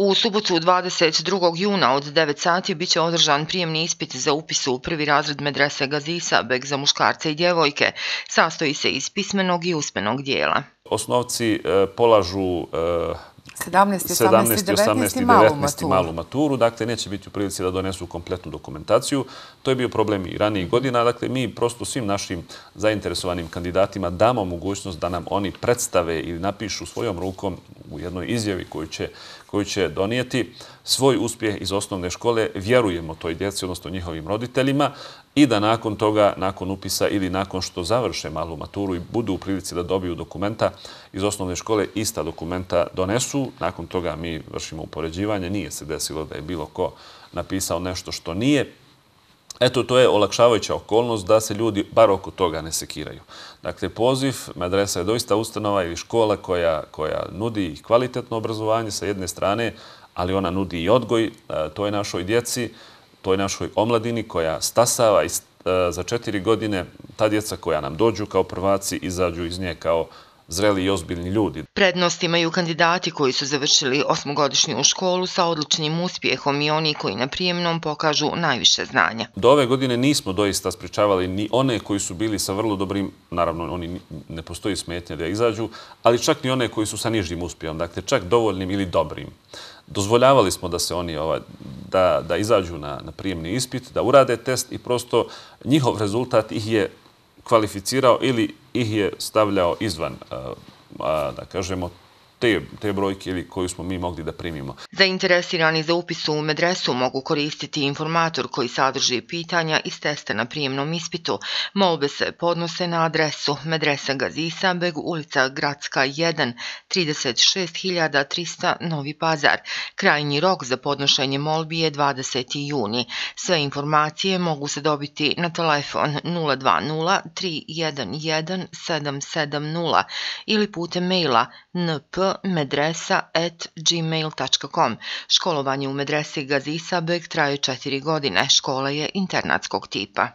U subotu 22. juna od 9 sati biće održan prijemni ispit za upis u prvi razred medrese Gazi Isabek za muškarce i djevojke. Sastoji se iz pismenog i usmenog dijela. Osnovci polažu 17., 18. i 19. malu maturu, dakle neće biti u prilici da donesu kompletnu dokumentaciju. To je bio problem i ranijih godina. Dakle, mi prosto svim našim zainteresovanim kandidatima damo mogućnost da nam oni predstave ili napišu svojom rukom u jednoj izjavi koju će donijeti svoj uspjeh iz osnovne škole. Vjerujemo toj djeci, odnosno njihovim roditeljima, i da nakon toga, nakon upisa ili nakon što završe malu maturu i budu u prilici da dobiju dokumenta iz osnovne škole, ista dokumenta donesu. Nakon toga mi vršimo upoređivanje. Nije se desilo da je bilo ko napisao nešto što nije. Eto, to je olakšavajuća okolnost da se ljudi bar oko toga ne sekiraju. Dakle, poziv, medresa je doista ustanova ili škola koja nudi kvalitetno obrazovanje sa jedne strane, ali ona nudi i odgoj toj našoj djeci, toj našoj omladini koja stasava za 4 godine. Ta djeca koja nam dođu kao prvaci izađu iz nje kao zreli i ozbiljni ljudi. Prednost imaju kandidati koji su završili 8-godišnju školu sa odličnim uspjehom i oni koji na prijemnom pokažu najviše znanja. Do ove godine nismo doista sprečavali ni one koji su bili sa vrlo dobrim, naravno oni ne postoji smetnja da izađu, ali čak ni one koji su sa nižim uspjehom, dakle čak dovoljnim ili dobrim. Dozvoljavali smo da se oni da izađu na prijemni ispit, da urade test i prosto njihov rezultat ih je kvalificirao ili ih je stavljao izvan, da kažemo, te brojke ili koju smo mi mogli da primimo. Zainteresirani za upis u medresu mogu koristiti informator koji sadrži pitanja iz testa na prijemnom ispitu. Molbe se podnose na adresu Medresa Gazi Isabek, ulica Gradska 1, 36.300 Novi Pazar. Krajnji rok za podnošenje molbi je 20. juni. Sve informacije mogu se dobiti na telefon 020 311 770 ili putem maila npmedresa@gmail.com. Školovanje u medresi Gazi Isabek traje 4 godine. Škola je internatskog tipa.